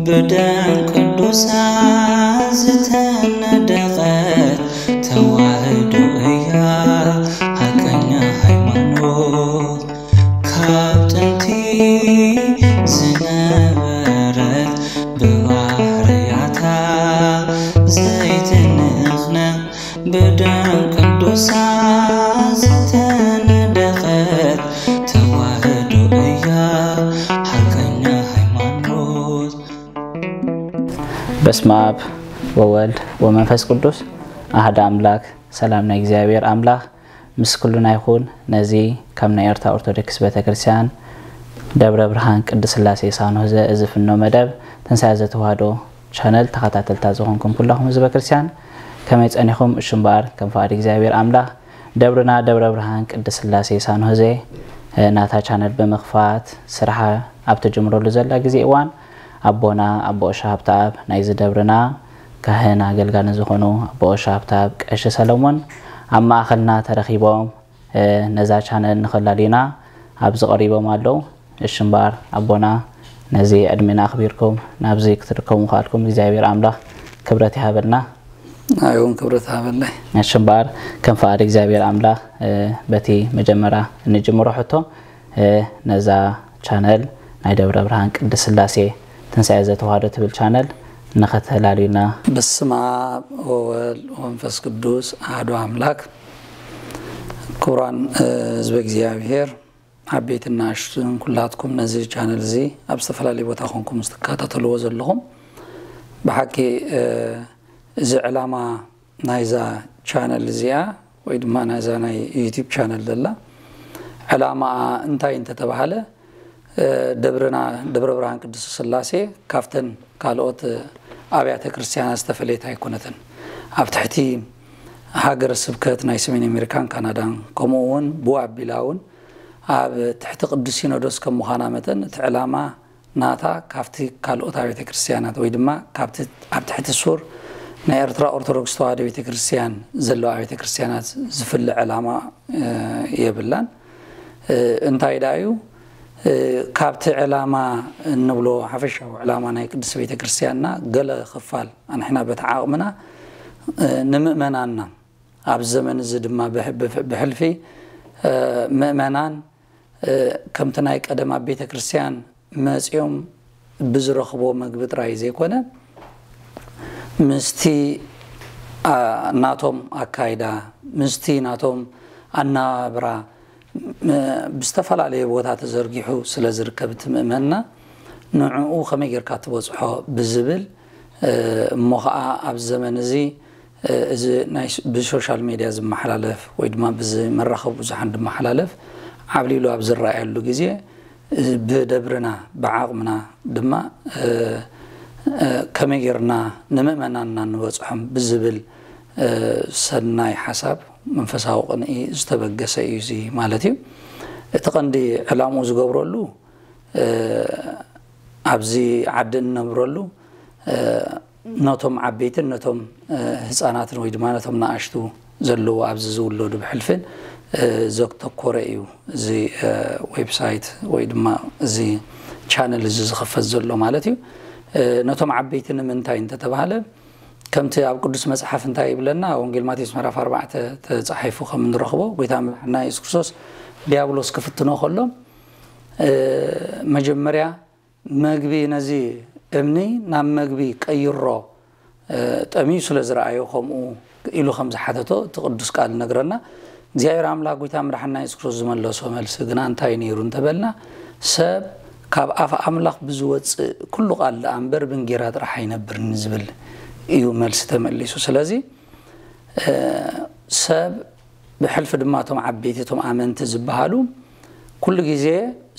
ብደም ቅዱሳን ዝተነደቐት ተዋህዶ እያ ሓቀኛ ሃይማኖት። ካብ ጥንቲ ዝነበረት ብባህርያታ ዘይትንኽነኽ ብደም ቅዱሳን ዝተነደቐት ተዋህዶ እያ ሓቀኛ ሃይማኖት። በስመ አብ ወወልድ ወመንፈስ ቅዱስ አሐደ አምላክ። ሰላም ናይ እግዚኣብሔር ኣምላኽ ምስ ኩልና ይኹን። ነዚ ካብ ናይ ኤርትራ ኦርቶዶክስ ቤተክርስትያን ደብረ ብርሃን ቅድስት ስላሴ ሳንሆዘ እዚ ፍኖ መደብ ትንሳኤ ዘተዋህዶ ቻነል ተኸታተልታ ዝኾንኩም ኩላኹም ህዝበ ክርስትያን ከመይ ጸኒኹም? እሹ እምበኣር ከም ፍቓድ እግዚኣብሔር ኣምላኽ ደብርና ደብረ ብርሃን ቅድስት ስላሴ ሳንሆዘ ናታ ቻነል ብምኽፋት ስርሓ ኣብ ትጅምረሉ ዘላ ግዜ እዋን ኣቦና ኣቦ ኦሻ ሃብተኣብ ናይዚ ደብርና ካህን ኣገልጋልን ዝኾኑ ኣቦ ኦሻ ሃብተኣብ ቀሺ ሰለሞን ኣብ ማእኸልና ተረኺቦም ነዛ ቻነል ንኸላልዩና ኣብዚ ቀሪቦም ኣለዉ። እሺ እምበኣር ኣቦና ነዚ ዕድሜና ኣኽቢርኩም ናብዚ ክትርከቡ ምኽኣልኩም እግዚኣብሔር ኣምላኽ ክብረት ይሃበልና። ኣይውን ክብረት ሃበለይ። እሺ እምበኣር ከም ፍቓድ እግዚኣብሔር ኣምላኽ በቲ መጀመርያ እንጅምሮ ሕቶ ነዛ ቻነል ናይ ደብረ ብርሃን ቅድስት ስላሴ ትንሳኤ ዘተዋህዶ ትብል ቻነል ንኸተላልዩና። በስመ አብ ወወልድ ወመንፈስ ቅዱስ አሐዱ አምላክ። ክቡራን ህዝበ እግዚኣብሔር ዓበይትን ንኣሽቱን ኩላትኩም ነዚ ቻነል እዚ ኣብ ዝተፈላለየ ቦታ ኮንኩም ዝትከታተልዎ ዘለኹም ብሓቂ እዚ ዕላማ ናይዛ ቻነል እዚኣ ወይ ድማ ናይዛ ናይ ዩቲብ ቻነል ዘላ ዕላማኣ እንታይ እንተተባሃለ ደብርና ደብረ ብርሃን ቅድስት ስላሴ ካብተን ካልኦት ኣብያተ ክርስቲያናት ዝተፈለየት ኣይኮነትን። ኣብ ትሕቲ ሃገረ ስብከት ናይ ሰሜን ኣሜሪካን ካናዳን ከምኡ እውን ብኡ ኣቢላ እውን ኣብ ትሕቲ ቅዱስ ሲኖዶስ ከም ምዃና መጠን እቲ ዕላማ ናታ ካብቲ ካልኦት ኣብያተ ክርስቲያናት ወይ ድማ ካብቲ ኣብ ትሕቲ ሱር ናይ ኤርትራ ኦርቶዶክስ ተዋህዶ ቤተ ክርስቲያን ዘለዋ ቤተ ክርስቲያናት ዝፍለ ዕላማ የብላን። እንታይ ደኣ እዩ ካብቲ ዕላማ እንብሎ ሓፈሻዊ ዕላማ ናይ ቅድስት ቤተ ክርስቲያንና ገለ ክፋል ኣንሕና በቲ ዓቕምና ንምእመናንና ኣብዚ ዘመን እዚ ድማ ብሕልፊ ምእመናን ከምቲ ናይ ቀደም ኣብ ቤተ ክርስቲያን መጺኦም ብዝረኽቦ መግቢ ጥራይ ዘይኮነ ምስቲ ናቶም ኣካይዳ ምስቲ ናቶም ኣናብራ ብዝተፈላለየ ቦታ ተዘርጊሑ ስለ ዝርከብ እቲ ምእመንና ንዕኡ ከመይ ጌርካ ትበጽሖ ብዝብል እሞ ኸዓ ኣብዚ ዘመን እዚ እዚ ናይ ብሶሻል ሜድያ ዝመሓላለፍ ወይ ድማ ብዚ መራኸቢ ብዙሓን ዝመሓላለፍ ዓብሊሉ ኣብ ዝረኣየሉ ግዜ ብደብርና ብዓቕምና ድማ ከመይ ጌርና ንምእመናንና ንበፅሖም ብዝብል ሰናይ ሓሳብ መንፈሳዊ ቅንኢ ዝተበገሰ እዩ እዚ ማለት እዩ። እቲ ቀንዲ ዕላምኡ ዝገብረሉ ኣብዚ ዓዲ እንነብረሉ ነቶም ዓበይትን ነቶም ህፃናትን ወይ ድማ ነቶም ንኣሽቱ ዘለዉ ኣብዚ ዝውለዱ ብሕልፍን ዘተኮረ እዩ እዚ ዌብሳይት ወይ ድማ እዚ ቻነል እዚ ዝኽፈት ዘሎ ማለት እዩ። ነቶም ዓበይቲ ንምንታይ እንተተባሃለ ከምቲ ኣብ ቅዱስ መፅሓፍ እንታይ ይብለና ወንጌል ማቴዎስ ምዕራፍ ኣርባዕተ ተፃሒፉ ከም እንረኽቦ ጎይታ መድሓና የሱስ ክርስቶስ ዲያብሎስ ክፍትኖ ከሎ መጀመርያ መግቢ ነዚ እምኒ ናብ መግቢ ቀይሮ ጠምዩ ስለ ዝረኣዮ ከምኡ ኢሉ ከም ዝሓተቶ እቲ ቅዱስ ቃል ይነግረና። እግዚኣብሔር ኣምላኽ ጎይታ መድሓና የሱስ ክርስቶስ ዝመለሶ መልሲ ግና እንታይ ነይሩ እንተበልና ሰብ ካብ ኣፍ ኣምላኽ ብዝወፅእ ኩሉ ቃል ደኣ እምበር ብእንጌራ ጥራሕ ኣይነብርን ዝብል እዩ መልሲ ተመሊሱ። ስለዚ ሰብ ብሕልፊ ድማ እቶም ዓበይቲ እቶም ኣመንቲ ዝበሃሉ ኩሉ ግዜ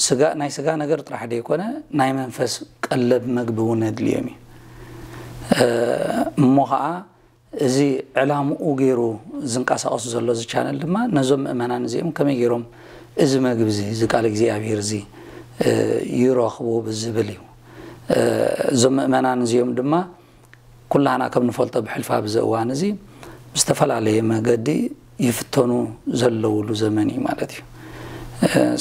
ስጋ ናይ ስጋ ነገር ጥራሕ ደይኮነ ናይ መንፈስ ቀለብ መግቢ እውን የድልዮም እዩ። እሞ ከዓ እዚ ዕላምኡ ገይሩ ዝንቀሳቀሱ ዘሎ እዚ ቻነል ድማ ነዞም ምእመናን እዚኦም ከመይ ገይሮም እዚ መግቢ እዚ እዚ ቃል እግዚኣብሔር እዚ ይረኽቡ ብዝብል እዩ። እዞም ምእመናን እዚኦም ድማ ኩላህና ከም ንፈልጦ ብሕልፊ ኣብዚ እዋን እዚ ብዝተፈላለየ መገዲ ይፍተኑ ዘለውሉ ዘመን እዩ ማለት እዩ።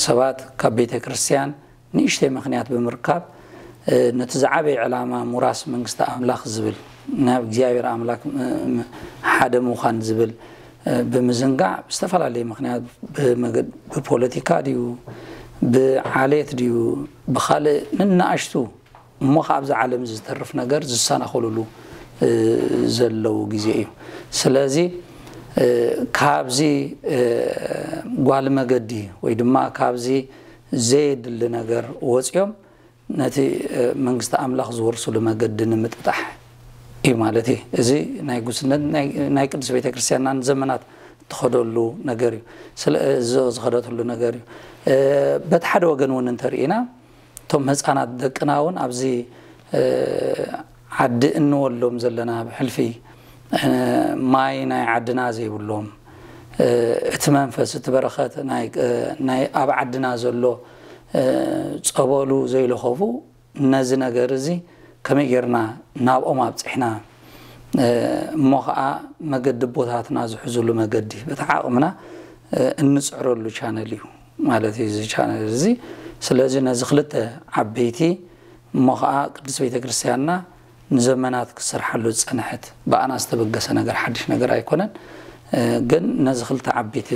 ሰባት ካብ ቤተ ክርስቲያን ንእሽተይ ምኽንያት ብምርካብ ነቲ ዝዓበየ ዕላማ ምውራስ መንግስቲ ኣምላኽ ዝብል፣ ናብ እግዚኣብሔር ኣምላኽ ሓደ ምዃን ዝብል ብምዝንጋዕ፣ ብዝተፈላለየ ምኽንያት፣ ብፖለቲካ ድዩ፣ ብዓሌት ድዩ፣ ብኻልእ ንናኣሽቱ እሞ ከ ኣብዚ ዓለም ዝተርፍ ነገር ዝሰናኸሉሉ ዘለዉ ግዜ እዩ። ስለዚ ካብዚ ጓል መገዲ ወይ ድማ ካብዚ ዘየድሊ ነገር ወፂኦም ነቲ መንግስቲ ኣምላኽ ዝወርስሉ መገዲ ንምጥጣሕ እዩ ማለት እዩ። እዚ ናይ ጉስነት ናይ ቅድስት ቤተክርስትያንና ንዘመናት እትኸደሉ ነገር እዩ። ዝኸደትሉ ነገር እዩ። በቲ ሓደ ወገን እውን እንተርኢና፣ እቶም ህፃናት ደቅና እውን ኣብዚ ዓዲ እንወሎም ዘለና ብሕልፊ ማይ ናይ ዓድና ዘይብሎም፣ እቲ መንፈስ፣ እቲ በረኸት ናይ ኣብ ዓድና ዘሎ ጸበሉ ዘይለኸፉ፣ ነዚ ነገር እዚ ከመይ ጌርና ናብኦም ኣብፅሕና እሞ ከዓ መገዲ ኣቦታትና ዝሕዝሉ መገዲ በቲ ዓቕምና እንፅዕረሉ ቻነል እዩ ማለት እዩ እዚ ቻነል እዚ። ስለዚ ነዚ ክልተ ዓበይቲ እሞ ከዓ ቅድስት ቤተክርስትያንና ንዘመናት ክሰርሓሉ ዝፀንሐት ብኣና ዝተበገሰ ነገር ሓድሽ ነገር ኣይኮነን። ግን ነዚ ክልተ ዓበይቲ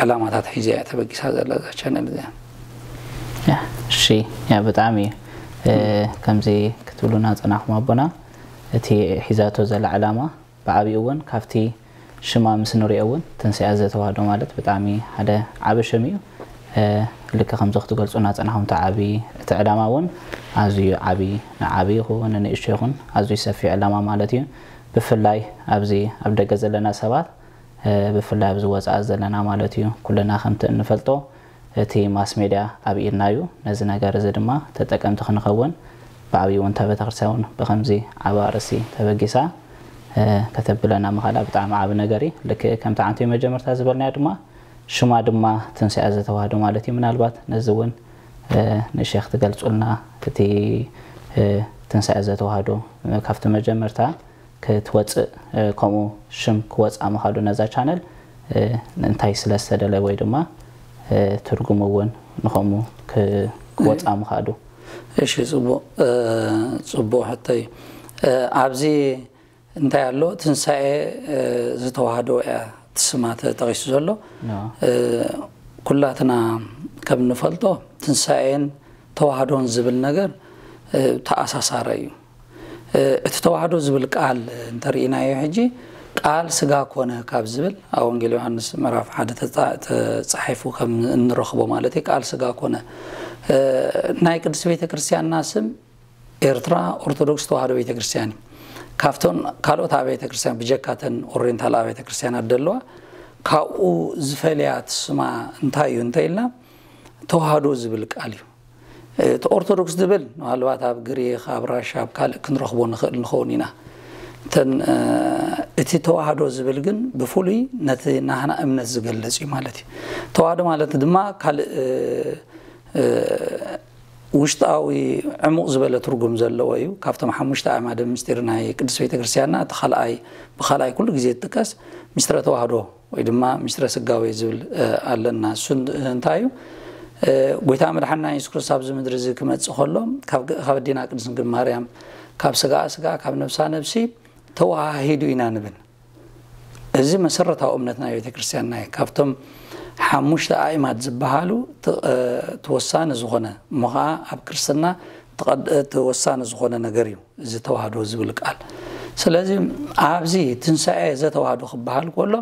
ዕላማታት ሒዛ እያ ተበጊሳ ዘላ እዛ ቻነል እዚኣ። እሺ፣ ያ ብጣዕሚ እዩ። ከምዚ ክትብሉና ፀናሕኩም ኣቦና፣ እቲ ሒዛቶ ዘላ ዕላማ ብዓብኡ እውን ካብቲ ሽማ ምስ ንሪኦ እውን ትንሳኤ ዘተዋህዶ ማለት ብጣዕሚ ሓደ ዓቢ ሽም እዩ። ልክ ከምዚ ክትገልፁና ፀናኹም እቲ ዓቢ እቲ ዕላማ እውን ኣዝዩ ዓቢ፣ ንዓቢ ይኹን ንንእሽቶ ይኹን ኣዝዩ ሰፊሕ ዕላማ ማለት እዩ። ብፍላይ ኣብዚ ኣብ ደገ ዘለና ሰባት ብፍላይ ኣብዚ ወፃኢ ዘለና ማለት እዩ ኩልና ከምቲ እንፈልጦ እቲ ማስ ሜድያ ኣብ ኢድና እዩ። ነዚ ነገር እዚ ድማ ተጠቀምቲ ክንኸውን ብዓብዩ እውን እታ ቤተክርስትያን እውን ብከምዚ ዓቢ ኣርእስቲ ተበጊሳ ከተብለና ምኻላ ብጣዕሚ ዓቢ ነገር እዩ። ልክእ ከምቲ ዓንቱ መጀመርታ ዝበልናዮ ድማ ሽማ ድማ ትንሳኤ ዘተዋህዶ ማለት እዩ። ምናልባት ነዚ እውን ንእሽተይ ክትገልፁልና እቲ ትንሳኤ ዘተዋህዶ ካብቲ መጀመርታ ክትወፅእ ከምኡ ሽም ክወፅኣ ምኻዱ ነዛ ቻነል እንታይ ስለ ዝተደለ ወይ ድማ ትርጉሙ እውን ንኸምኡ ክወፅኣ ምኻዱ። እሺ፣ ፅቡቕ ሕቶ እዩ። ኣብዚ እንታይ ኣሎ? ትንሳኤ ዝተዋህዶ እያ እቲ ስማ ተጠቒሱ ዘሎ። ኩላትና ከም ንፈልጦ ትንሳኤን ተዋህዶን ዝብል ነገር ተኣሳሳረ እዩ። እቲ ተዋህዶ ዝብል ቃል እንተርኢናዮ ሕጂ ቃል ስጋ ኮነ ካብ ዝብል ኣብ ወንጌል ዮሃንስ ምዕራፍ ሓደ ተፃሒፉ ከም እንረኽቦ ማለት እዩ። ቃል ስጋ ኮነ ናይ ቅድስት ቤተ ክርስቲያንና ስም ኤርትራ ኦርቶዶክስ ተዋህዶ ቤተ ክርስቲያን እዩ። ካብተን ካልኦት ኣብያተ ክርስቲያን ብጀካተን ኦሪየንታል ኣብያተ ክርስቲያናት ደለዋ ካብኡ ዝፈልያ ስማ እንታይ እዩ እንተ ኢልና ተዋህዶ ዝብል ቃል እዩ። እቲ ኦርቶዶክስ ዝብል ምናልባት ኣብ ግሪክ፣ ኣብ ራሻ፣ ኣብ ካልእ ክንረኽቦ ንኽእል ንኸውን ኢና። እተን እቲ ተዋህዶ ዝብል ግን ብፍሉይ ነቲ ናህና እምነት ዝገልጽ እዩ ማለት እዩ። ተዋህዶ ማለት ድማ ካልእ ውሽጣዊ ዕሙቕ ዝበለ ትርጉም ዘለዎ እዩ። ካብቶም ሓሙሽተ ኣዕማደ ምስጢር ናይ ቅድስት ቤተ ክርስቲያንና እቲ ካልኣይ ብኻልኣይ ኩሉ ግዜ ዝጥቀስ ምስጢረ ተዋህዶ ወይ ድማ ምስጢረ ስጋዌ ዝብል ኣለና። እሱ እንታይ እዩ? ጎይታ መድሓንና የሱስ ክርስቶስ ኣብዚ ምድሪ እዚ ክመጽእ ከሎ ካብ ኣዴና ቅድስት ድንግል ማርያም ካብ ስጋኣ ስጋ ካብ ነብሳ ነብሲ ተዋሃሂዱ ኢና ንብል። እዚ መሰረታዊ እምነት ናይ ቤተ ክርስቲያንና እዩ። ካብቶም ሓሙሽተ ኣእማድ ዝበሃሉ እቲ ወሳኒ ዝኾነ እሞ ኸዓ ኣብ ክርስትና እቲ ወሳኒ ዝኾነ ነገር እዩ እዚ ተዋህዶ ዝብል ቃል። ስለዚ ኣብዚ ትንሳኤ ዘተዋህዶ ክበሃል ከሎ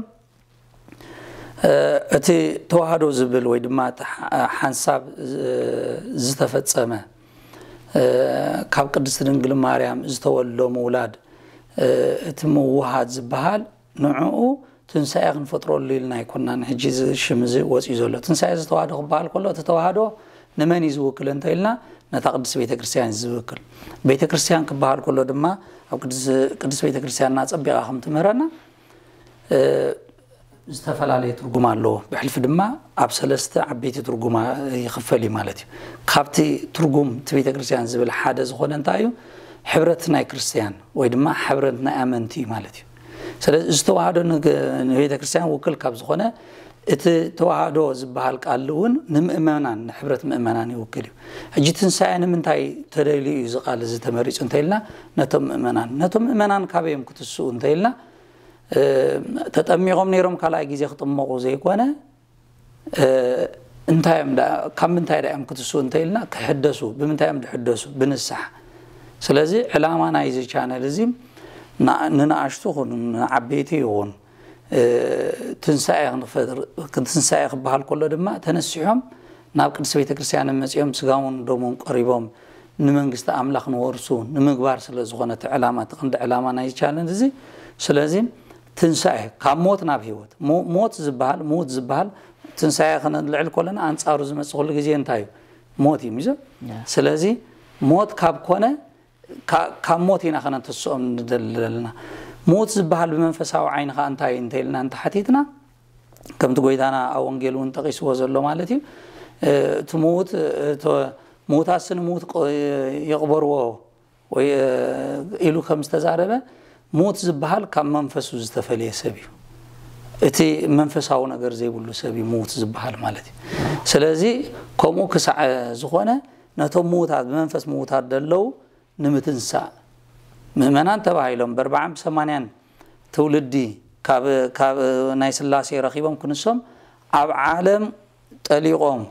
እቲ ተዋህዶ ዝብል ወይ ድማ ሓንሳብ ዝተፈጸመ ካብ ቅድስቲ ድንግል ማርያም ዝተወልዶ ምውላድ እቲ ምውሃድ ዝበሃል ንዕኡ ትንሳኤ ክንፈጥረሉ ኢልና ኣይኮናን። ሕጂ እዚ ሽም እዚ ወፂኡ ዘሎ ትንሳኤ ዝተዋህዶ ክበሃል ከሎ እቲ ተዋህዶ ንመን እዩ ዝውክል እንተ ኢልና ነታ ቅድስቲ ቤተ ክርስቲያን እዩ ዝውክል። ቤተ ክርስቲያን ክበሃል ከሎ ድማ ኣብ ቅድስቲ ቤተ ክርስቲያንና ፀቢቓ ከም ትምህረና ዝተፈላለየ ትርጉም ኣለዎ። ብሕልፊ ድማ ኣብ ሰለስተ ዓበይቲ ትርጉማ ይኽፈል እዩ ማለት እዩ። ካብቲ ትርጉም እቲ ቤተ ክርስቲያን ዝብል ሓደ ዝኾነ እንታይ እዩ? ሕብረት ናይ ክርስቲያን ወይ ድማ ሕብረት ናይ ኣመንቲ እዩ ማለት እዩ። ስለዚ ዝተዋህዶ ንቤተ ክርስቲያን ውክል ካብ ዝኾነ እቲ ተዋህዶ ዝበሃል ቃል እውን ንምእመናን፣ ንሕብረት ምእመናን ይውክል እዩ። ሕጂ ትንሳኤ ንምንታይ ተደልዩ እዩ እዚ ቃል እዚ ተመሪጹ እንተኢልና፣ ነቶም ምእመናን፣ ነቶም ምእመናን ካበይ እዮም ክትስኡ እንተኢልና፣ እ፣ ተጠሚቖም ነይሮም ካልኣይ ግዜ ክጥመቑ ዘይኮነ፣ እ፣ እንታይ እዮም ዳ-፣ ካብ ምንታይ ዳ እዮም ክትስኡ እንተኢልና፣ ክሕደሱ። ብምንታይ እዮም ዝሕደሱ? ብንስሓ። ስለዚ ዕላማ ናይዚ ቻነል እዚ ና-፣ ንንኣሽቱ ይኹን ንዓበይቲ ይኹን፣ እ፣ ትንሳኤ ክንፈጥር፣ ትንሳኤ ክበሃል ከሎ ድማ ተነሲሖም ናብ ቅድስቲ ቤተ ክርስቲያን መጺኦም ስጋውን ደሙን ቀሪቦም ንመንግስቲ ኣምላኽ ንወርሱ ንምግባር ስለ ዝኾነ እቲ ዕላማ፣ እቲ ቀንዲ ዕላማ ናይ ቻነል እዚ። ስለዚ ትንሳኤ ካብ ሞት ናብ ህይወት፣ ሞ-፣ ሞት ዝበሃል፣ ምዉት ዝበሃል፣ ትንሳኤ ከነልዕል ከለና ኣንጻሩ ዝመጽእ ኩሉ ግዜ እንታይ እዩ? ሞት እዩ። ሚዞ ያ። ስለዚ ሞት ካብ ኮነ፣ ካ-፣ ካብ ሞት ኢና ከነንተስኦም ንደሊ ዘለና። ምዉት ዝበሃል ብመንፈሳዊ ዓይኒ ኸኣ እንታይ እዩ እንተኢልና እንተሓቲትና፣ ከምቲ ጎይታና ኣብ ወንጌል እውን ጠቒስዎ ዘሎ ማለት እዩ። እ፣ እቲ ምዉት፣ እ፣ እቶ-፣ ምዉታትስ ንምዉት ቅ-፣ ይቕበርዎ ወይ፣ እ፣ ኢሉ ከም ዝተዛረበ፣ ምዉት ዝበሃል ካብ መንፈሱ ዝተፈልየ ሰብ እዩ። እቲ መንፈሳዊ ነገር ዘይብሉ ሰብ እዩ ምዉት ዝበሃል ማለት እዩ። ስለዚ ከምኡ ክሳዕ ዝኾነ፣ ነቶም ምዉታት፣ ብመንፈስ ምዉታት ዘለዉ ንምትንሳእ ምእመናን ተባሂሎም ብኣርባዓን ብሰማንያን ትውልዲ ካብ፣ ካብ ናይ ስላሴ ረኺቦም ክንሶም ኣብ ዓለም ጠሊቖም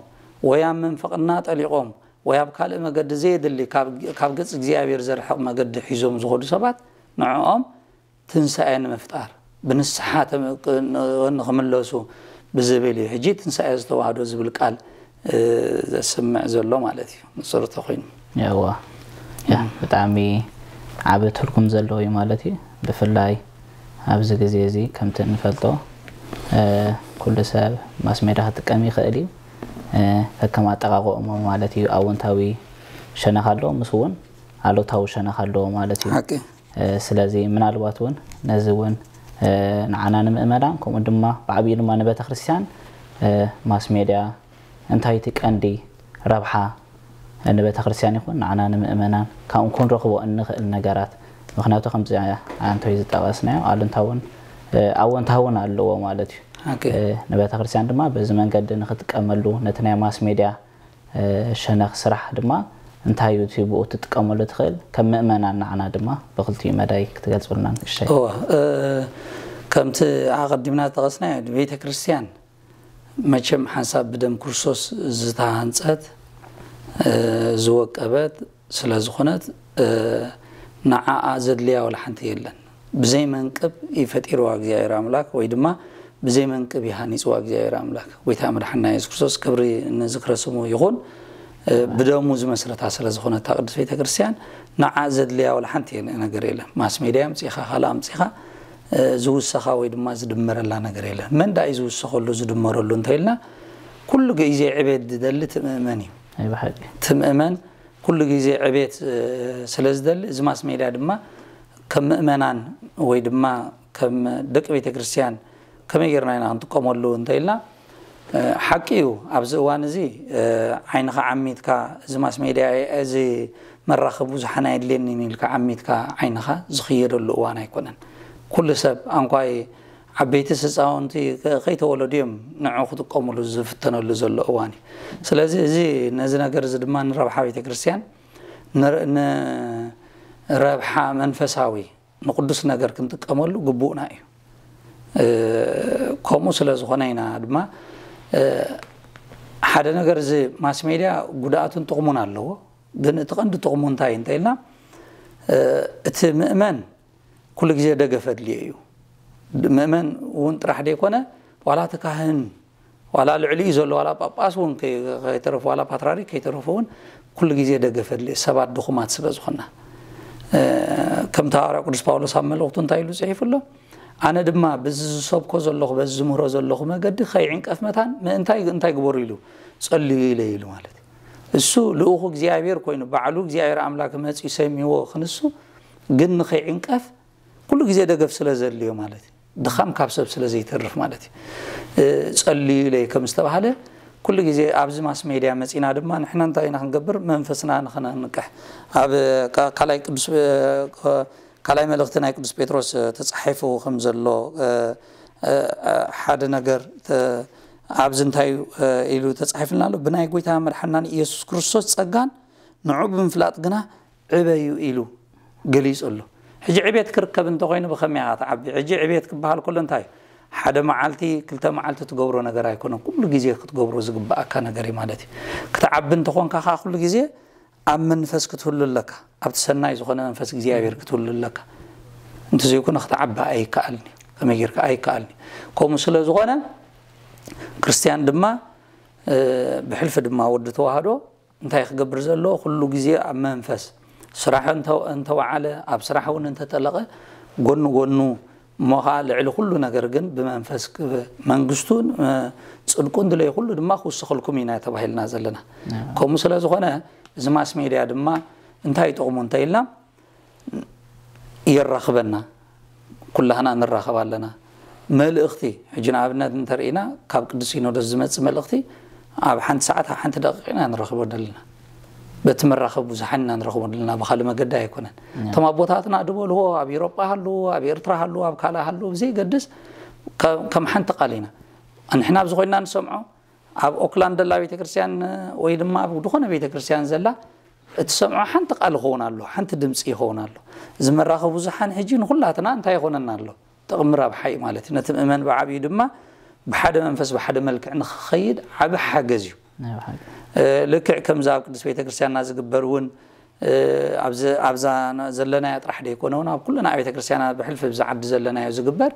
ወይ ኣብ ምንፍቕና ጠሊቖም ወይ ኣብ ካልእ መገዲ ዘየድሊ ካብ፣ ካብ ገጽ እግዚኣብሔር ዘርሕቕ መገዲ ሒዞም ዝኾዱ ሰባት ንዕኦም ትንሳኤ ንምፍጣር ብንስሓ ተም-፣ ክ-፣ ን-፣ ንኽምለሱ ብዝብል እዩ። ሕጂ ትንሳኤ ዝተዋህዶ ዝብል ቃል፣ እ፣ ዘስምዕ ዘሎ ማለት እዩ። ንጹር ተኾይኑ። የዋ። ያ፣ ብጣዕሚ ዓቢ ትርጉም ዘለዎ እዩ ማለት እዩ። ብፍላይ ኣብዚ ግዜ እዚ ከምቲ እንፈልጦ፣ እ፣ ኩሉ ሰብ ማስ ሜድያ ክጥቀም ይኽእል እዩ። እ፣ ከከም ኣጠቓቕሞ ማለት እዩ። ኣወንታዊ ሸነኽ ኣለዎ፣ ምስ እውን ኣሉታዊ ሸነኽ ኣለዎ ማለት እዩ። ሓቂ። እ፣ ስለዚ ምናልባት እውን ነዚ እውን፣ እ፣ ንዓና ንምእመናን፣ ከምኡ ድማ ብዓብዩ ድማ ንቤተ ክርስቲያን፣ እ፣ ማስ ሜድያ እንታይ እቲ ቀንዲ ረብሓ ንቤተ ክርስቲያን ይኹን ንዓና ንምእመናን ካብኡ ክንረኽቦ እንኽእል ነገራት? ምኽንያቱ ከምዚ ኣንቶይ ዝጠቐስናዮ ኣሉንታውን፣ እ፣ ኣወንታውን ኣለዎ ማለት እዩ። ሓቂ። እ፣ ንቤተ ክርስቲያን ድማ በዚ መንገዲ ንኽጥቀመሉ ነቲ ናይ ማስ ሜድያ እ፣ ሸነኽ ስራሕ ድማ እንታይ እዩ እቲ ብኡ ትጥቀመሉ ትኽእል? ከም ምእመናን ንዓና ድማ ብኽልቲኡ መዳይ ክትገልጹልና ንእሽተይ። እወ፣ እ፣ ከምቲ ኣቐዲምና ዝጠቐስናዮ፣ ቤተ ክርስቲያን መቸም ሓንሳብ ብደም ክርስቶስ ዝተሃንጸት፣ እ፣ ዝወቀበት ስለ ዝኾነት፣ እ፣ ንዓኣ ዘድልያ ወላ ሓንቲ የለን። ብዘይ መንቅብ እዩ ፈጢርዋ እግዚኣብሔር ኣምላኽ፣ ወይ ድማ ብዘይ መንቅብ እዩ ሃኒጽዋ እግዚኣብሔር ኣምላኽ። ጎይታ መድሓንና የሱስ ክርስቶስ፣ ክብሪ ንዝክረ ስሙ ይኹን፣ እ፣ ብደሙ ዝመስረታ ስለ ዝኾነት እታ ቅድስት ቤተ ክርስቲያን፣ ንዓ ዘድልያ ወላ ሓንቲ የለ-፣ ነገር የለን። ማስ ሜድያ ኣምጺኻ፣ ካልእ ኣምጺኻ፣ እ፣ ዝውሰኻ ወይ ድማ ዝድመረላ ነገር የለን። መን ደኣ እዩ ዝውሰኸሉ፣ ዝድመረሉ እንተኢልና፣ ኩሉ ግዜ ዕቤት ዝደሊ እቲ ምእመን እዩ። ናይ ብሓቂ። እቲ ምእመን ኩሉ ግዜ ዕቤት፣ እ፣ ስለ ዝደሊ፣ እዚ ማስ ሜድያ ድማ ከም ምእመናን ወይ ድማ ከም ደቂ ቤተ ክርስቲያን ከመይ ጌርና ኢና ክንጥቀመሉ እንተኢልና፣ እ፣ ሓቂ እዩ፣ ኣብዚ እዋን እዚ፣ እ፣ ዓይንኻ ዓሚትካ፣ እዚ ማስ ሜድያ፣ እዚ መራኸቢ ብዙሓን ኣየድልየንን ኢልካ ዓሚትካ ዓይንኻ ዝኽየደሉ እዋን ኣይኮነን። ኩሉ ሰብ፣ ኣንኳይ ዓበይቲስ ህፃውንቲ ከ-፣ ከይተወለዱ እዮም ንዑ ክጥቀሙሉ ዝፍተነሉ ዘሎ እዋን እዩ። ስለዚ እዚ፣ ነዚ ነገር እዚ ድማ ንረብሓ ቤተ ክርስቲያን፣ ንረ-፣ ንረብሓ መንፈሳዊ፣ ንቅዱስ ነገር ክንጥቀመሉ ግቡእና እዩ። እ፣ ከምኡ ስለ ዝኾነ ኢና ድማ፣ እ፣ ሓደ ነገር፣ እዚ ማስ ሜድያ ጉድኣቱን ጥቕሙን ኣለዎ። ግን እቲ ቀንዲ ጥቕሙ እንታይ እንተ ኢልና፣ እ፣ እቲ ምእመን ኩሉ ግዜ ደገፍ ኣድልዮ እዩ። ምእመን እውን ጥራሕ ደይኮነ፣ ዋላ እቲ ካህን፣ ዋላ ልዕሊኡ ዘሎ፣ ዋላ ጳጳስ እውን ከይ-፣ ከይተረፉ፣ ዋላ ፓትርያርክ ከይተረፉ እውን ኩሉ ግዜ ደገፍ ኣድልዮ፣ ሰባት ድኹማት ስለ ዝኾንና። እ፣ ከምቲ ሃዋርያ ቅዱስ ጳውሎስ ኣብ መልእኽቱ እንታይ ኢሉ ጽሒፉ ኣሎ? "ኣነ ድማ በዚ ዝሰብኮ ዘለኹ፣ በዚ ዝምህሮ ዘለኹ መገዲ ከይዕንቀፍ መታን ምእንታይ፣ እንታይ ግበሩ?" ኢሉ፣ "ጸልዩ ኢለ" ኢሉ ማለት እዩ። እሱ ልኡኹ እግዚኣብሔር ኮይኑ፣ ባዕሉ እግዚኣብሔር ኣምላክ መጺኡ ሰሚዎ ክንሱ፣ ግን ንኸይዕንቀፍ ኩሉ ግዜ ደገፍ ስለ ዘድልዮ ማለት እዩ። ድኻም ካብ ሰብ ስለ ዘይተርፍ ማለት እዩ። እ፣ ጸልዩ ኢለ ከም ዝተባህለ፣ ኩሉ ግዜ ኣብዚ ማስ ሜድያ መጺና ድማ ንሕና እንታይ ኢና ክንገብር? መንፈስና ንኸነንቅሕ። ኣብ ካ-፣ ካልኣይ ቅዱስ፣ እ፣ ካልኣይ መልእኽቲ ናይ ቅዱስ ጴጥሮስ፣ እ፣ ተጻሒፉ ከም ዘሎ፣ እ፣ እ፣ እ፣ ሓደ ነገር ተ-፣ ኣብዚ እንታይ ኢሉ ተፃሒፍልና ኣሎ? ብናይ ጎይታ መድሓናን ኢየሱስ ክርስቶስ ፀጋን ንዑ ብምፍላጥ ግና ዕበዩ ኢሉ ገሊጹ ኣሎ። ሕጂ ዕቤት ክርከብ እንተኾይኑ ብኸመይ ኢኻ ትዓቢ? ሕጂ ዕቤት ክበሃል ከሎ እንታይ እዩ? ሓደ መዓልቲ ክልተ መዓልቲ ትገብሮ ነገር ኣይኮነን። ኩሉ ግዜ ክትገብሮ ዝግባኣካ ነገር እዩ ማለት እዩ። ክትዓቢ እንተኾንካ ከዓ ኩሉ ግዜ ኣብ መንፈስ ክትህሉ ኣለካ። ኣብቲ ሰናይ ዝኾነ መንፈስ እግዚኣብሔር ክትህሉ ኣለካ። እንተዘይኮነ ክትዓቢ ኣይከኣልን እዩ። ከመይ ጌርካ ኣይከኣልን እዩ። ከምኡ ስለ ዝኾነ ክርስትያን ድማ ብሕልፊ ድማ ወዲ ተዋህዶ እንታይ ክገብር ዘለዎ? ኩሉ ግዜ ኣብ መንፈስ ስራሕ እንተወዓለ፣ ኣብ ስራሕ እውን እንተጠለቐ፣ ጎኑ ጎኑ እሞ ኸዓ ልዕሊ ኩሉ ነገር ግን ብመንፈስ መንግስቱን ጽድቁን ድለይ ኩሉ ድማ ክውስኸልኩም ኢና ተባሂልና ዘለና። ከምኡ ስለ ዝኾነ እዚ ማስ ሜድያ ድማ እንታይ ይጠቕሙ እንተ ኢልና የራኽበና፣ ኩላህና ንራኸብ ኣለና። መልእኽቲ ሕጂ ንኣብነት እንተርኢና ካብ ቅዱስ ሲኖዶስ ዝመጽእ መልእኽቲ ኣብ ሓንቲ ሰዓት ኣብ ሓንቲ ደቂቕ ኢና ንረኽቦ ዘለና። በቲ መራኸቢ ብዙሓን ኢና ንረኽቦ ዘለና፣ ብኻልእ መገዲ ኣይኮነን። እቶም ኣቦታትና ድበልዎ ኣብ ኤውሮጳ ሃለዉ፣ ኣብ ኤርትራ ሃለዉ፣ ኣብ ካልእ ሃለዉ ብዘይገድስ ከም ሓንቲ ቃል ኢና ንሕና ኣብዚ ኮይንና ንሰምዖ። ኣብ ኦክላንድ ዘላ ቤተክርስትያን ወይ ድማ ኣብ ዝኾነ ቤተክርስትያን ዘላ እትሰምዖ ሓንቲ ቃል ይኸውን ኣሎ፣ ሓንቲ ድምፂ ይኸውን ኣሎ። እዚ መራኸቢ ብዙሓን ሕጂ ንኹላትና እንታይ ይኾነና ኣሎ? ጥቕሚ ረብሓ እዩ ማለት እዩ። ነቲ ምእመን ብዓብዩ ድማ ብሓደ መንፈስ ብሓደ መልክዕ ንክኸይድ ዓቢ ሓገዝ እዩ። ልክዕ ከምዚ ኣብ ቅዱስ ቤተክርስትያንና ዝግበር እውን ኣብዛ ዘለናያ ጥራሕ ደይኮነ እውን ኣብ ኩለን ኣብያተ ክርስትያናት ብሕልፊ ብዛ ዓዲ ዘለናዮ ዝግበር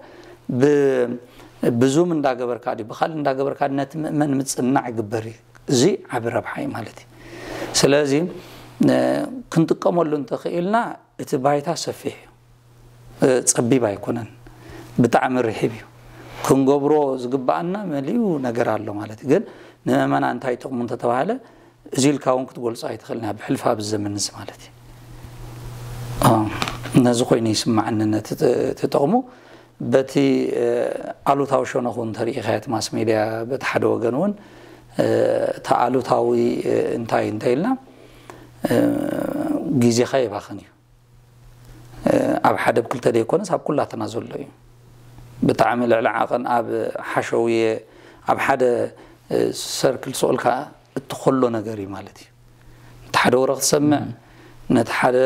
ብዙም እንዳገበርካ ድዩ ብካልእ እንዳገበርካ ነቲ ምእመን ምፅናዕ ይግበር እዩ። እዚ ዓቢ ረብሓ እዩ ማለት እዩ። ስለዚ ክንጥቀመሉ እንተኽኢልና እቲ ባይታ ሰፊሕ እዩ፣ ፀቢብ ኣይኮነን፣ ብጣዕሚ ርሒብ እዩ። ክንገብሮ ዝግባኣና መሊኡ ነገር ኣሎ ማለት እዩ። ግን ንምእመና እንታይ ጥቕሙ እንተተባሃለ እዚ ኢልካ እውን ክትገልፆ ኣይትኽእልና ብሕልፊ ኣብዚ ዘመን እዚ ማለት እዩ። ነዚ ኮይኑ ይስማዓኒ ነቲ ጥቕሙ በቲ ኣሉታዊ ሸነኹ እንተሪኢኻዮ እቲ ማስ ሜድያ በቲ ሓደ ወገን እውን እቲ ኣሉታዊ እንታይ እንተ ኢልና ግዜኻ የባኽን እዩ። ኣብ ሓደ ብክልተ ዘይኮነስ ኣብ ኩላትና ዘሎ እዩ። ብጣዕሚ ልዕሊ ዓቐን ኣብ ሓሸውየ ኣብ ሓደ ሰርክል ስቕ ኢልካ እትኸሎ ነገር እዩ ማለት እዩ። ነቲ ሓደ ወረ ክትሰምዕ ነቲ ሓደ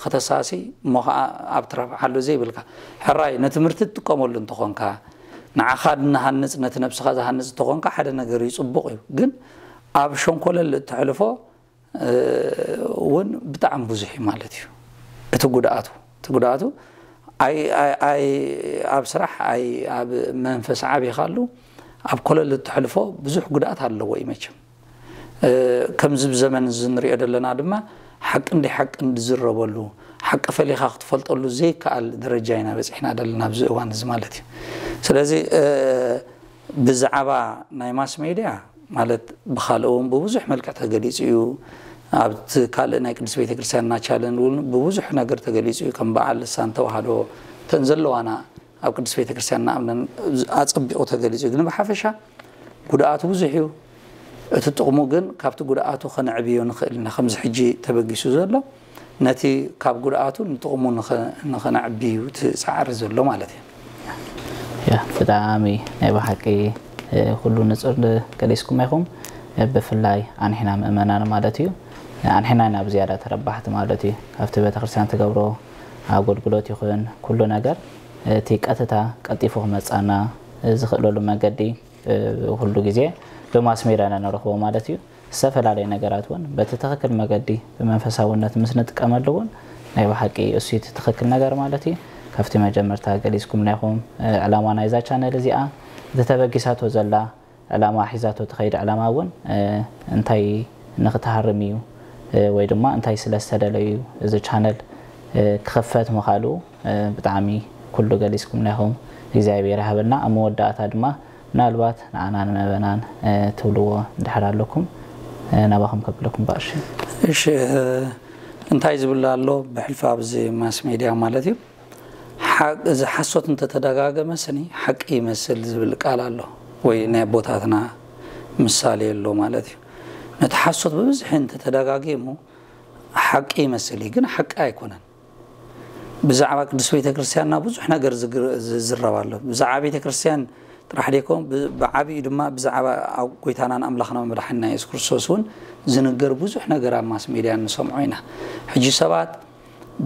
ከተሳሲ እሞ ከዓ ኣብ ትረብሓሉ ዘይብልካ ሕራይ ነትምህርቲ ትጥቀመሉ እንተኾንካ ንዓኻ ንሃንፅ ነቲ ነብስኻ ዝሃንፅ እንተኾንካ ሓደ ነገር እዩ ፅቡቕ እዩ። ግን ኣብ ሸንኮለል እተሕልፎ እውን ብጣዕሚ ብዙሕ እዩ ማለት እዩ። እቲ ጉድኣቱ እቲ ጉድኣቱ ኣብ ስራሕ ኣብ መንፈስ ዓቢኻሉ ኣብ ኮለል እትሕልፎ ብዙሕ ጉድኣት ኣለዎ እዩ መቸም። ከምዚ ብዘመን እዚ ንሪኦ ዘለና ድማ ሓቂ እንዲ ሓቂ እንድዝረበሉ ሓቂ ፈሊኻ ክትፈልጠሉ ዘይከኣል ደረጃ ኢና በፂሕና ዘለና ኣብዚ እዋን እዚ ማለት እዩ። ስለዚ ብዛዕባ ናይ ማስ ሜድያ ማለት ብኻልእ እውን ብብዙሕ መልክዕ ተገሊፁ እዩ። ኣብቲ ካልእ ናይ ቅዱስ ቤተክርስትያንና ቻለንል እውን ብብዙሕ ነገር ተገሊፁ እዩ። ከም በዓል ልሳን ተዋህዶ እተን ዘለዋና ኣብ ቅዱስ ቤተክርስትያንና ኣምነን ኣፀቢቑ ተገሊፁ እዩ። ግን ብሓፈሻ ጉድኣቱ ብዙሕ እዩ። እቲ ጥቕሙ ግን ካብቲ ጉድኣቱ ከነዕብዮ ንኽእል ኢና። ከምዚ ሕጂ ተበጊሱ ዘሎ ነቲ ካብ ጉድኣቱ ንጥቕሙ ንኸነዕቢ እዩ እቲ ፃዕሪ ዘሎ ማለት እዩ። ያ ብጣዕሚ ናይ ብሓቂ ኩሉ ንፁር ገሊፅኩም ኢኹም። ብፍላይ ኣንሕና ምእመናን ማለት እዩ ኣንሕና ኢና ብዝያዳ ተረባሕቲ ማለት እዩ። ካብቲ ቤተክርስትያን ትገብሮ ኣገልግሎት ይኹን ኩሉ ነገር እቲ ቀጥታ ቀልጢፉ ክመፃና ዝኽእለሉ መገዲ ኩሉ ግዜ ብማስ ሜድያ ኢና ንረኽቦ ማለት እዩ። ዝተፈላለዩ ነገራት እውን በቲ ትኽክል መገዲ ብመንፈሳውነት ምስ ንጥቀመሉ እውን ናይ ብሓቂ እሱ እቲ ትኽክል ነገር ማለት እዩ። ካብቲ መጀመርታ ገሊጽኩምና ኢኹም ዕላማ ናይዛ ቻነል እዚኣ እቲ ተበጊሳቶ ዘላ ዕላማ ሒዛቶ ትኸይድ ዕላማ እውን እንታይ ንኽትሃርም እዩ ወይ ድማ እንታይ ስለ ዝተደለዩ እዚ ቻነል ክኽፈት ምኻሉ ብጣዕሚ ኩሉ ገሊጽኩምና ኢኹም። እግዚኣብሔር ይሃበልና። ኣብ መወዳእታ ድማ ምናልባት ንዓና ንምእመናን ትብልዎ እንድሕር ኣለኩም ናባኹም ከብለኩም ባእሺ። እሺ እንታይ ዝብል ኣሎ ብሕልፊ ኣብዚ ማስ ሜድያ ማለት እዩ እዚ ሓሶት እንተተደጋገመ ስኒ ሓቂ ይመስል ዝብል ቃል ኣሎ ወይ ናይ ኣቦታትና ምሳሌ ኣሎ ማለት እዩ። ነቲ ሓሶት ብብዝሒ እንተተደጋጊሙ ሓቂ ይመስል እዩ ግን ሓቂ ኣይኮነን። ብዛዕባ ቅዱስ ቤተ ክርስቲያንና ብዙሕ ነገር ዝዝረብ ኣሎ። ብዛዕባ ቤተ ክርስቲያን ጥራሕ ደይኮን፣ ብ-፣ ብዓብዩ ድማ ብዛዕባ ኣብ ጎይታናን ኣምላኽና መድሓኒና የሱስ ክርስቶስ እውን ዝንገር ብዙሕ ነገር ኣብ ማስ ሜድያ ንሰምዖ ኢና። ሕጂ ሰባት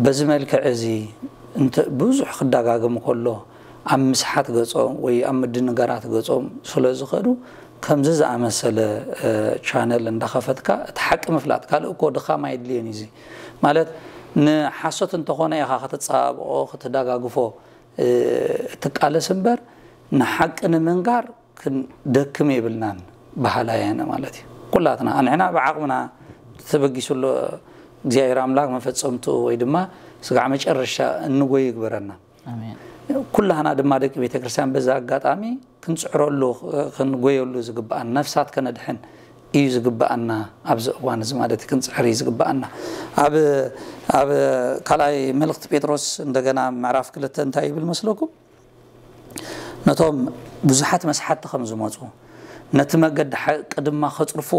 በዚ መልክዕ እዚ እንተ-፣ ብዙሕ ክደጋገም ከሎ፣ ኣብ ምስሓት ገጾም ወይ ኣብ ምድንጋራት ገጾም ስለ ዝኸዱ፣ ከምዚ ዝኣመሰለ፣ እ፣ ቻነል እንዳኸፈትካ እቲ ሓቂ ምፍላጥ፣ ካልእ እኮ ድኻም ኣይድልዮን እዩ። እዚ ማለት ንሓሶት እንተኾነ ኢኻ ከተጸባብቖ፣ ክትደጋግፎ፣ እ፣ እትቃለስ እምበር፣ ንሓቂ ንምንጋር ክንደክም የብልናን በሃላይ ኣነ ማለት እዩ። ኩላትና፣ ንሕና ብዓቕምና ተበጊሱ ኣሎ እግዚኣብሔር ኣምላክ መፈጸምትኡ ወይ ድማ ስጋዕ መጨረሻ እንጎይ ይግበረና። ኣሜን። ኩላህና ድማ ደቂ ቤተ ክርስቲያን በዛ ኣጋጣሚ ክንጽዕረሉ፣ ክንጎየሉ ዝግብኣና፣ ነፍሳት ከነድሕን እዩ ዝግብኣና። ኣብዚ እዋን እዚ ማለት እዩ፣ ክንጽዕር እዩ ዝግብኣና። ኣብ፣ ኣብ ካልኣይ መልእኽቲ ጴጥሮስ እንደገና ምዕራፍ ክልተ እንታይ ይብል መስለኩም? ነቶም ብዙሓት መስሓትቲ ከም ዝመጹ፣ ነቲ መገዲ ሓቂ ድማ ከጽርፉ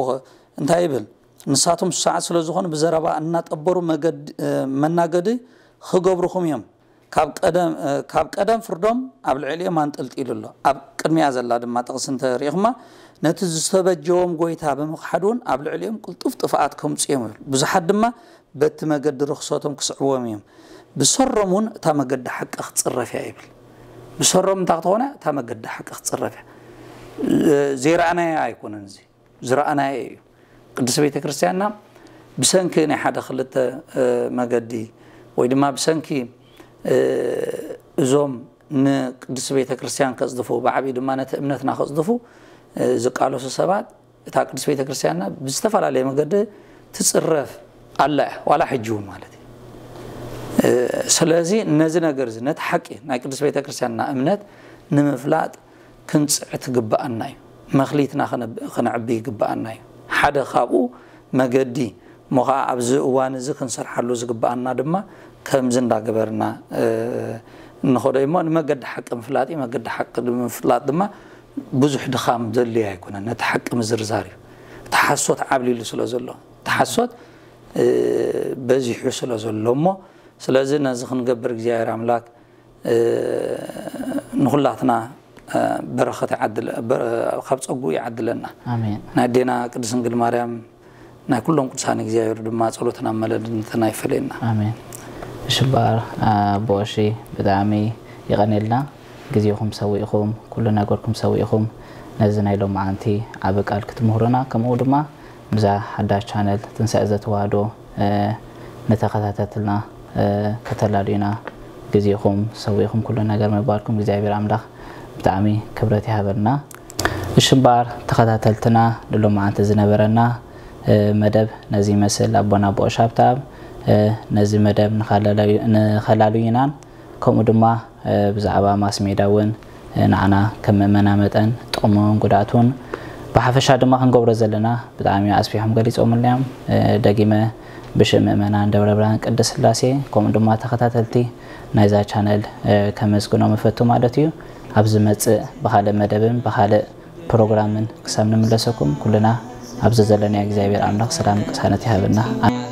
እንታይ ይብል? ንሳቶም ሰዓት ስለ ዝኾኑ ብዘረባ እናጠበሩ መገዲ፣ እ፣ መናገዲ ክገብሩኹም እዮም። ካብ ቀደም፣ እ፣ ካብ ቀደም ፍርዶም ኣብ ልዕሊኦም ኣንጠልጢሉ ኣሎ። ኣብ ቅድሚያ ዘላ ድማ ጥቕሲ እንተሪኢኹማ፣ ነቲ ዝተበጀዎም ጎይታ ብምኽሓድ እውን ኣብ ልዕሊኦም ቅልጡፍ ጥፍኣት ከምጽኡ እዮም ይብል። ብዙሓት ድማ በቲ መገዲ ርኽሰቶም ክስዕዎም እዮም። ብሰሮም እውን እታ መገዲ ሓቂ ክትጽረፍ እያ ይብል። ብሰሮም እንታይ ክትኾነ? እታ መገዲ ሓቂ ክትጽረፍ እያ። እ፣ ዘይረኣናዮ ኣይኮነን እዚ። ዝረኣናዮ እዩ። ቅድስት ቤተ ክርስቲያንና ብሰንኪ ናይ ሓደ ክልተ፣ እ፣ መገዲ ወይ ድማ ብሰንኪ፣ እ፣ እዞም ንቅድስት ቤተ ክርስቲያን ከጽድፉ፣ ብዓብዩ ድማ ነቲ እምነትና ከጽድፉ፣ እ፣ ዝቃለሱ ሰባት፣ እታ ቅድስት ቤተ ክርስቲያንና ብዝተፈላለየ መገዲ ትጽረፍ ኣላ እያ፣ ዋላ ሕጂ እውን ማለት እዩ። እ፣ ስለዚ ነዚ ነገር እዚ፣ ነቲ ሓቂ ናይ ቅድስት ቤተ ክርስቲያንና እምነት ንምፍላጥ ክንጽዕት ግብኣና እዩ። መኽሊትና ከነ-፣ ከነዕቢ ይግብኣና እዩ። ሓደ ካብኡ መገዲ እሞ ኸዓ ኣብዚ እዋን እዚ ክንሰርሓሉ ዝግብኣና ድማ ከምዚ እንዳገበርና፣ እ፣ እንኸዶ እሞ ንመገዲ ሓቂ ምፍላጥ እዩ። መገዲ ሓቂ ንምፍላጥ ድማ ብዙሕ ድኻም ዘድልዮ ኣይኮነን። ነቲ ሓቂ ምዝርዛር እዩ። እቲ ሓሶት ዓብሊሉ ስለ ዘሎ፣ እቲ ሓሶት፣ እ፣ በዚሑ ስለ ዘሎ እሞ፣ ስለዚ ነዚ ክንገብር እግዚኣብሔር ኣምላክ እ፣ ንኹላትና፣ እ፣ በረኸት ይዓድለ-፣ በረ-፣ ካብ ጸጉኡ ይዓድለና። ኣሜን። ናይ ኣዴና ቅድስት ድንግል ማርያም፣ ናይ ኩሎም ቅዱሳን እግዚኣብሔር ድማ ጸሎትና መለድነትና ይፈለየና። ኣሜን። እሺ እምበኣር፣ ኣቦ ቀሺ፣ ብጣዕሚ የቐንየልና። ግዜኹም ሰዊእኹም፣ ኩሉ ነገርኩም ሰዊእኹም፣ ነዚ ናይ ሎማዓንቲ ዓቢ ቃል ክትምህሩና፣ ከምኡ ድማ ምስዛ ሓዳሽ ቻነል ትንሳኤ ዘተዋህዶ፣ እ፣ ንተኸታተልትና፣ እ፣ ከተላልዩና ግዜኹም ሰዊእኹም ኩሉ ነገር ምባልኩም እግዚኣብሔር ኣምላኽ ብጣዕሚ ክብረት ይሃበልና። እሺ እምበኣር ተኸታተልትና ንሎማዓንቲ ዝነበረና፣ እ፣ መደብ ነዚ ይመስል። ኣቦና ኣቦ ቀሺ ሃብተኣብ፣ እ፣ ነዚ መደብ ንኸላላዩ-፣ ንኸላልዩናን ከምኡ ድማ፣ እ፣ ብዛዕባ ማስ ሜድያ እውን፣ እ፣ ንዓና ከም ምእመና መጠን ጥቕሙን ጉድኣቱን ብሓፈሻ ድማ ክንገብሮ ዘለና ብጣዕሚ ኣስፊሖም ገሊጾምልና እዮም። እ፣ ደጊመ ብሽም ምእመናን ደብረ ብርሃን ቅድስት ስላሴ ከምኡ ድማ ተኸታተልቲ ናይዛ ቻነል፣ እ፣ ከመስግኖም እፈቱ ማለት እዩ። ኣብ ዝመጽእ ብኻልእ መደብን ብኻልእ ፕሮግራምን ክሳብ ንምለሰኩም ኩልና ኣብዚ ዘለናዮ እግዚኣብሔር ኣምላኽ ሰላም ቅሳነት ይሃበና።